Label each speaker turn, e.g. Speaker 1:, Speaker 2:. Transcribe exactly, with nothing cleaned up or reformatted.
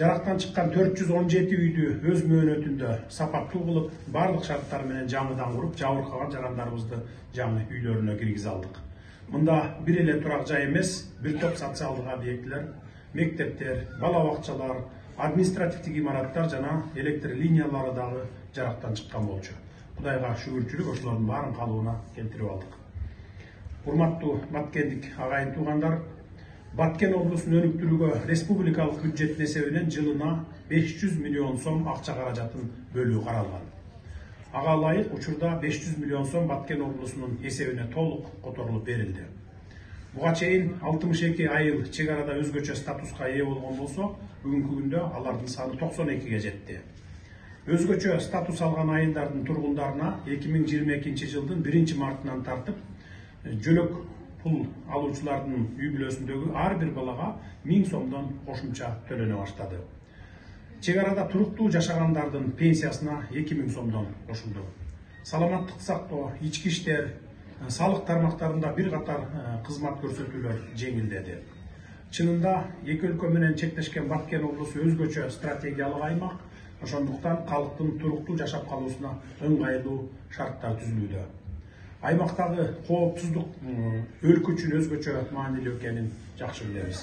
Speaker 1: жарактан чыккан төрт жүз он жети үйдү өз мөөнөтүндө сапаттуу кылып, бардык шарттар менен жаңыдан куруп, жабыркаган жарандарыбызды жаңы үйлөрүнө киргизе алдык. Мында бир эле турак жай эмес, бир топ социалдык объектилер, мектептер, бала бакчалар, административдик имараттар жана электр линиялары дагы жарактан чыккан болчу. Кудайга шүгүрчүлүк ошолордун баарын калыбына келтирип алдык. Урматтуу баткендик агайын туугандар, Баткен облусун өнүктүрүүгө республикалык бюджеттин эсебинен жылына беш жүз миллион сом акча каражатын бөлүү каралган. Ага ылайык учурда беш жүз миллион сом Баткен облусунун эсебине толук которулуп берилди. Буга чейин алтымыш эки айыл чек арада өзгөчө статуска ээ болгон болсо, бүгүнкү күндө алардын саны токсон экиге жетти. Өзгөчө статус алган айылдардын тургундарына эки миң жыйырма экинчи жылдын биринчи мартынан тартып, жөлөк пул алуучулардын үй бүлөсүндөгү ар бир балага миң сомдон кошумча төлөнө баштады. Чек арада туруктуу жашагандардын пенсиясына эки миң сомдон кошулду. Саламаттык сактоо, ички иштер, салык тармактарында бир катар кызмат көрсөтүүлөр жеңилдеди. Чынында эки өлкө менен чектешкен Баткен облусу өзгөчө стратегиялык аймак, ошондуктан калктын туруктуу жашап калуусуна ыңгайлуу шарттар түзүлүүдө. Аймактагы коопсуздук өлкө үчүн өзгөчө маанилүү экенин жакшы билебиз.